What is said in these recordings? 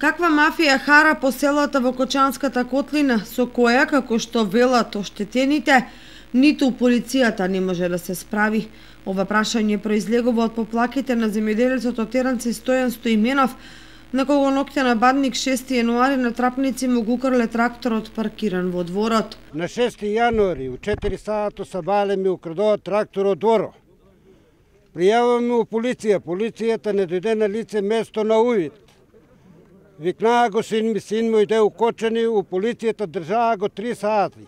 Каква мафија хара по селата во Кочанската котлина, со која, како што велат оштетените, ниту полицијата не може да се справи? Ова прашање произлегува од поплаките на земјоделецот од Теранци Стојан Стоименов, на кого ноќта бадник 6 јануари на трапници му го украле тракторот паркиран во дворот. На 6 јануари у 4 сато сабале ми украдоа трактор од дворот. Пријаваме у полиција, полицијата не дојде на лице место на увид. Викнаа го син му иде у Кочани, у полицијата држаа го 3 сати.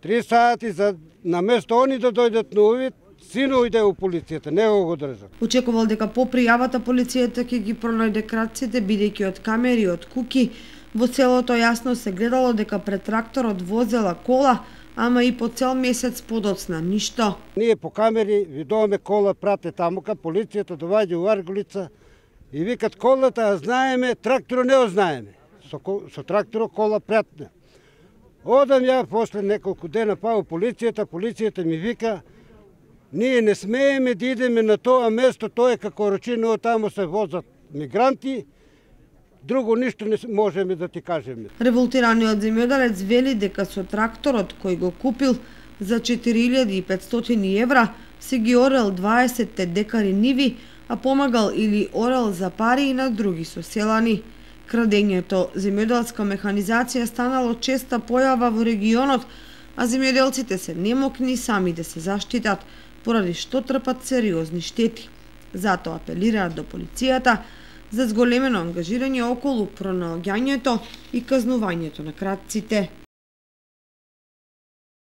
3 сати за на место они да дојдат на увид, сино иде у полицијата, не го држат. Очекувал дека по пријавата полицијата ќе ги пронајде крадците, бидејќи од камери и од куки во селото јасно се гледало дека пред тракторот возела кола, ама и по цел месец подоцна ништо. Ние по камери видоваме кола прате тамука, полицијата доваѓа у Арголица и викат колата, а знаеме, тракторот не го знаеме. Со тракторот кола пратне. Одам ја после неколку дена па у полицијата ми вика, ние не смееме да идеме на тоа место, тоа е како Рочино, таму се возат мигранти, друго ништо не можеме да ти кажеме. Револтираниот земјоделец вели дека со тракторот кој го купил за 4500 евра си ги орел 20 декари ниви, а помагал или орел за пари и на други соселани. Крадењето земјоделска механизација станало честа појава во регионот, а земјоделците се немокни сами да се заштитат, поради што трпат сериозни штети. Затоа апелираат до полицијата за зголемено ангажирање околу пронаоѓањето и казнувањето на крадците.